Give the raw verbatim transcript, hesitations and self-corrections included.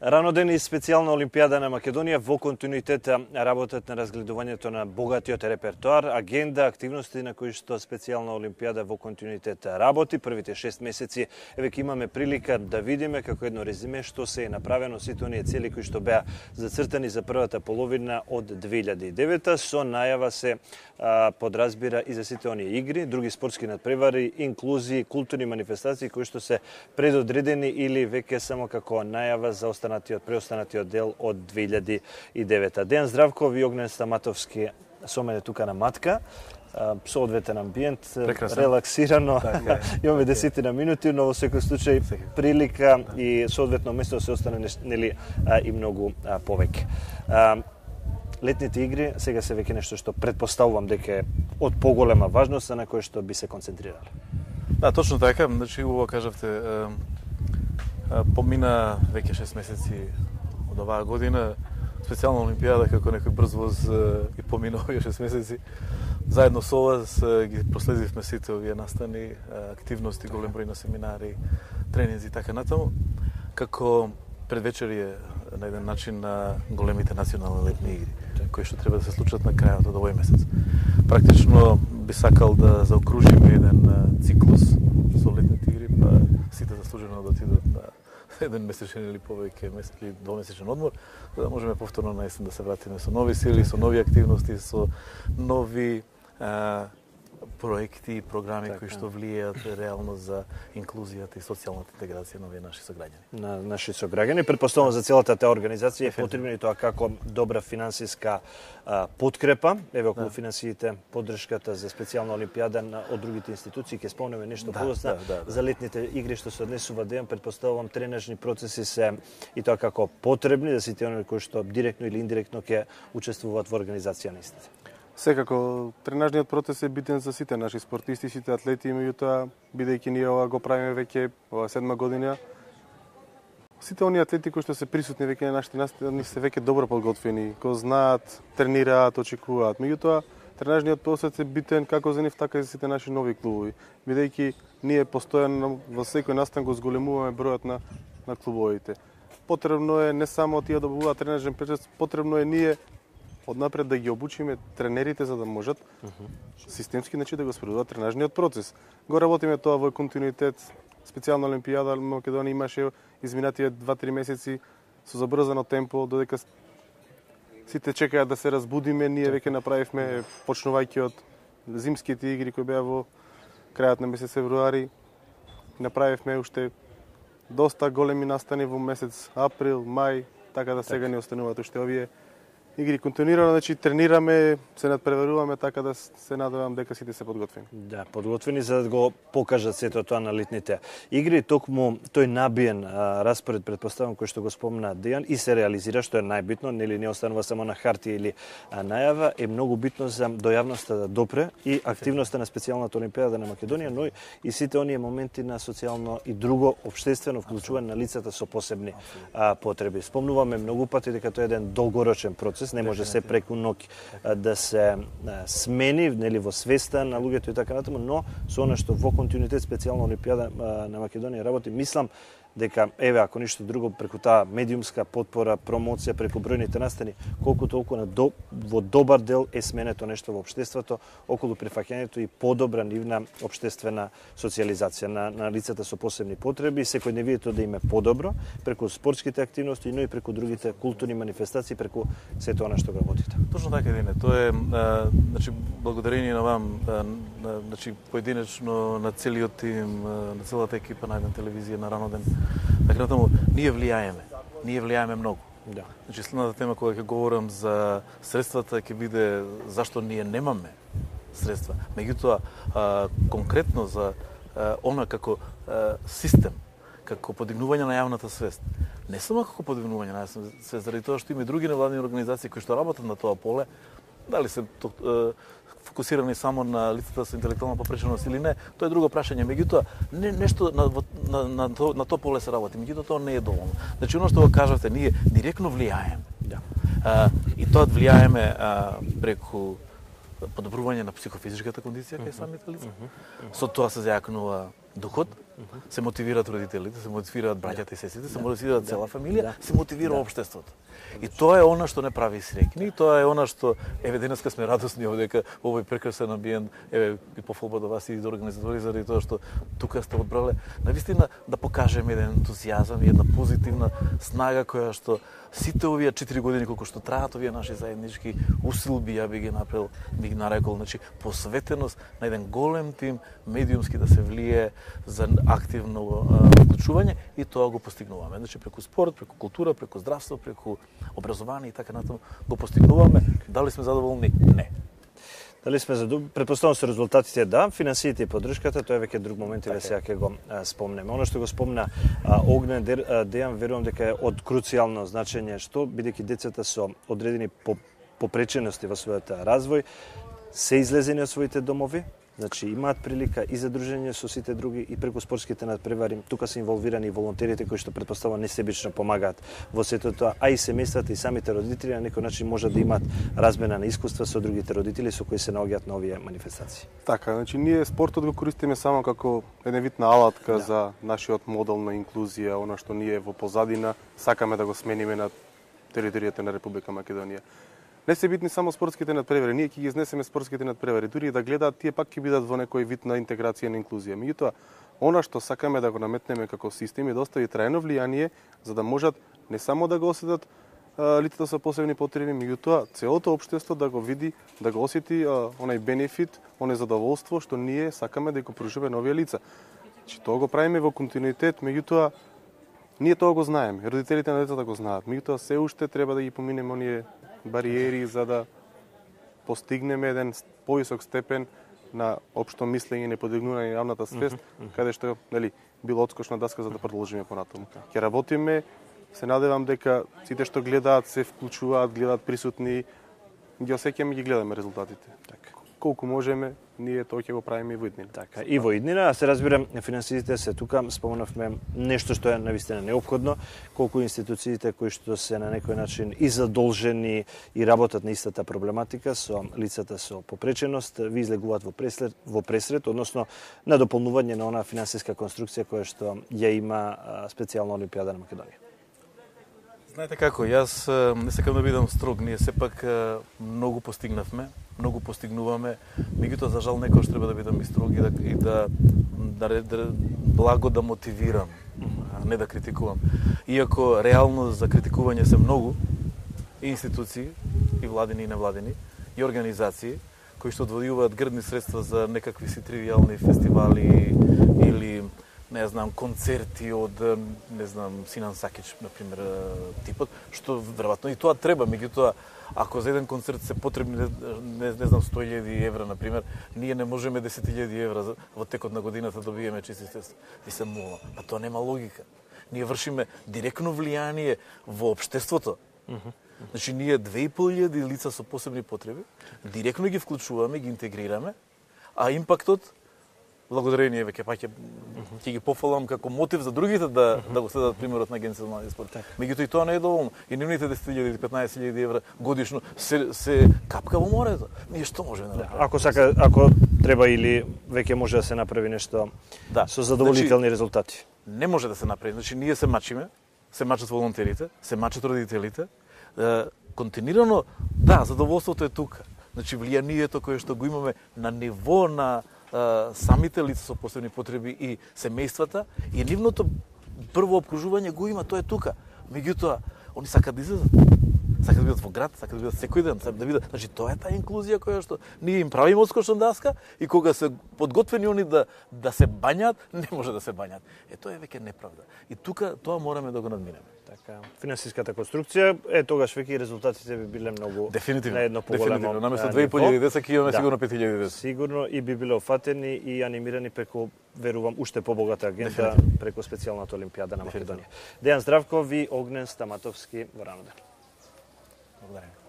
Раноден и специјална Олимпијада на Македонија во континуитет работат на разгледувањето на богатиот репертоар, агенда, активности на кои што специјална Олимпијада во континуитет работи. Првите шест месеци веќе имаме прилика да видиме како едно резиме што се е направено сите оние цели кои што беа зацртани за првата половина од две илјади и девета, со најава се а, подразбира и за сите оние игри, други спортски надпревари, инклузии, културни манифестации кои што се предодредени или веќе само како најава за останатиот, преостанатиот дел од две илјади и девета. Дејан Здравков и Огнен Стаматовски со мене тука на матка, со одветен амбиент, прекрасно, релаксирано, така, имаме десетина минути, но во секој случај прилика и соодветно место се остане нели и многу повеќе. Летните игри сега се веќе нешто што предпоставувам дека е од поголема важност, на кој што би се концентрирале. Да, точно така, значи убаво кажавте, помина веќе шест месеци од оваа година, специјална Олимпијада како некој брз воз и помина овие шест месеци. Заедно со вас ги проследивме сите овие настани, активности, голем број на семинари, тренинзи и така натаму, како предвечерие на еден начин на големите национални летни игри, кои што треба да се случат на крајот од овој месец. Практично би сакал да заокружиме еден циклус со летните игри, па сите заслужено да отидат на еден месечен или повеќе месец или двомесечен одмор, за да можеме повторно на есен да се вратиме со нови сили, со нови активности, со нови а, проекти и програми така, кои што влијаат реално за инклузијата и социјалната интеграција на овие наши сограѓани. На наши сограѓани, претпоставувам за целата таа организација е потребна и тоа како добра финансиска а, подкрепа. Еве околу да. финансиите, поддршката за специјална Олимпијада на, од другите институции, ќе спомнеме нешто да, подоцна да, да, да. за летните игри што се однесува дејан, претпоставувам тренажни процеси се и тоа како потребни за сите оние кои што директно или индиректно ќе учествуваат во организација на истите. Секако, тренажниот процес е битен за сите наши спортисти, сите атлети, меѓутоа, бидејќи ние ова го правиме веќе ова седма година, сите оние атлети кои што се присутни веќе на нашите настани се веќе добро подготвени, го знаат, тренираат, очекуваат. Меѓутоа, тренажниот процес е битен како за нив, така и за сите наши нови клубови, бидејќи ние постојано во секој настан го зголемуваме бројот на на клубовите. Потребно е не само тие да добуваат тренажен процес, потребно е ние однапред да ги обучиме тренерите за да можат uh -huh. системски значи да го спроведуваат тренажниот процес. Го работиме тоа во континуитет. Специјална Олимпијада Македонија имаше изминатите два-три месеци со забрзано темпо, додека сите чекаат да се разбудиме, ние веќе направивме, почнувајќи од зимските игри кои беа во крајот на месец февруари, направивме уште доста големи настани во месец април, мај, така да сега не остануваат уште овие игри континуирано, значи тренираме, се надпреваруваме, така да се надевам дека сите се подготвени. Да, подготвени за да го покажат сето тоа на летните игри. Токму тој набиен а, распоред, предпоставам, кој што го спомна Дејан, и се реализира, што е најбитно, нели не останува само на хартија или а, најава, е многу битно за до јавноста да допре и активноста на специјалната Олимпијада на Македонија, но и сите оние моменти на социјално и друго обштествено вклучување на лицата со посебни а, потреби. Спомнуваме многу пати дека тоа е еден долгорочен процес, не може се преку ноќ да се смени, нели во свеста на луѓето и така натаму, но со она што во континуитет специјална Олимпијада на Македонија работи, мислам дека еве ако ништо друго преку таа медиумска потпора, промоција преку бројните настани, колку толку на до, во добар дел е сменето нешто во општеството околу прифаќањето и подобра нивна општествена социјализација на, на лицата со посебни потреби, секојдневието да им е подобро преку спортските активности, но и преку другите културни манифестации, преку сето она што го работите. Точно така, Дине. Тоа е, а, значи, благодарение на вам, а, на, значи, поединечно на целиот тим, на целата екипа на една телевизија на Раноден. Така натаму, ние влијаеме. Ние влијаеме многу. Да. Значи, следната тема кога ќе говорам за средствата ќе биде зашто ние немаме средства. Меѓутоа, а, конкретно за а, она како а, систем, како подигнување на јавната свест. Не само како подигнување на јавната свест, заради тоа што има и други невладини организации кои што работат на тоа поле, дали се а, фокусирани само на лицата со интелектуална попреченост или не, тоа е друго прашање. Меѓутоа, не, нешто на, на, на, на, на тоа поле се работи, меѓутоа тоа не е доволно. Значи, оно што го кажавте, ние директно влијаеме. Да. А, и тоа влијаеме а, преку подобрување на психофизичката кондиција кај самите лица. Со тоа се зајакнува духот, Се мотивираат родителите, се мотивираат браќата и сестрите, се мотивираат цела фамилија, се мотивира општеството. И тоа е она што не прави среќни, тоа е она што еве денеска сме радосни дека овој прекрасен амбиент, еве и пофолба до вас и до организатори заради тоа што тука сте одбрале навистина да покажеме еден ентузијазам и една позитивна снага која што сите овие четири години колку што траат овие наши заеднички усилби, ја би ги направил, би ги нарекол, значи посветеност на еден голем тим медиумски да се влие за активно вклучување и тоа го постигнуваме. Значи преку спорт, преку култура, преку здравство, преку образование и така натаму го постигнуваме. Дали сме задоволни? Не. Дали сме задоволни? Претпоставувам се резултатите да, финансиите и поддршката, тоа е веќе друг момент и ве сега ќе го а, спомнеме. Оно што го спомна а, Огнен Дејан, верувам дека е од круцијално значење, што бидејќи децата со одредени попречености во својот развој се излезени од своите домови, значи имаат прилика и за дружење со сите други и преку спортските надпревари. Тука се инволвирани и волонтерите кои што претпоставувам несебично помагаат во сето тоа, а и семејствата и самите родители на некој начин може да имаат размена на искуства со другите родители со кои се наоѓаат на овие манифестации. Така, значи ние спортот го користиме само како еден вид на алатка да. за нашиот модел на инклузија, она што ние во позадина сакаме да го смениме на територијата на Република Македонија. Не се битни само спортските надпревари, ние ќе ги изнесеме спортските надпревари, дури и да гледаат, тие пак ќе бидат во некој вид на интеграција на инклузија. Меѓутоа, она што сакаме да го наметнеме како систем и да остави трајно влијание, за да можат не само да го осетат лицата со посебни потреби, меѓутоа целото општество да го види, да го осети а, онај бенефит, онај задоволство што ние сакаме да го пружиме на овие лица. Че тоа го правиме во континуитет, меѓутоа ние тоа го знаеме, родителите на децата го знаат, меѓутоа се уште треба да ги поминеме оние бариери за да постигнеме еден повисок степен на општо мислење, неподигнување на јавната свест, mm-hmm. каде што, нели, било одскочна даска за да продолжиме понатаму. Ќе работиме, се надевам дека сите што гледаат се вклучуваат, гледаат присутни, ги осеќаме и ги гледаме резултатите. Така. Колку можеме, ние тоа ќе го правиме и во иднина. Така, и во иднина, а се разбирам, финансиите се тука, спомнавме нешто што е навистина неопходно, колку институциите кои што се на некој начин и задолжени и работат на истата проблематика со лицата со попреченост, ви излегуваат во пресред, во пресред, односно на дополнување на онаа финансиска конструкција која што ја има специјална Олимпијада на Македонија. Знаете како, јас не сакам да бидам строг, ние сепак многу постигнавме, многу постигнуваме, меѓутоа за жал некојаш треба да бидам и строг и да, и да, да, да благо да мотивирам, а не да критикувам. Иако реално за критикување се многу и институции, и владини и невладини, и организации кои што одвојуваат грдни средства за некакви си тривијални фестивали или не знам, концерти од, не знам, Синан Сакич, например, типот, што веројатно и тоа треба, меѓутоа, ако за еден концерт се потребни, не, не знам, сто илјади евра, например, ние не можеме десет илјади евра во текот на годината да добиеме чисти средства. И се мула. Па тоа нема логика. Ние вршиме директно влијание во општеството. Значи, ние две и пол илјади лица со посебни потреби, директно ги вклучуваме, ги интегрираме, а импактот благодарение веќе паќе ќе ги пофалам како мотив за другите да да го следат примерот на Агенцијата за млади спорт. Меѓутоа и тоа не е доволно. И нивните десет илјади или петнаесет илјади евра годишно се се капка во морето. Ние што можеме да направиме? Ако сака, ако треба или веќе може да се направи нешто да. Со задоволителни значи, резултати. Не може да се направи. Значи ние се мачиме, се мачат волонтерите, се мачат родителите. Е, континуирано, да, задоволството е тука. Значи влијанието кое што го имаме на ниво на самите лица со посебни потреби и семејствата и нивното прво обкружување го има, тоа е тука. Меѓутоа, они сакаат да излезат. Сакаат да бидат во град, сакаат да бидат секој ден, сакаат да бидат. Значи тоа е таа инклузија која што ние им правиме одскочна даска и кога се подготвени они да да се бањаат, не може да се бањаат. Е тоа е веќе неправда. И тука тоа мораме да го надминеме. Така, финансиската конструкција е тогаш веќе и резултатите би биле многу дефинитивно, на едно поголемо. Дефинитивно, наместо две и пол илјади деца ќе имаме да, сигурно пет илјади деца. Сигурно и би биле офатени и анимирани преку, верувам, уште побогата агента преку специјалната Олимпијада на Македонија. Дејан Здравков и Огнен Стаматовски во Рамадан. Благодарам.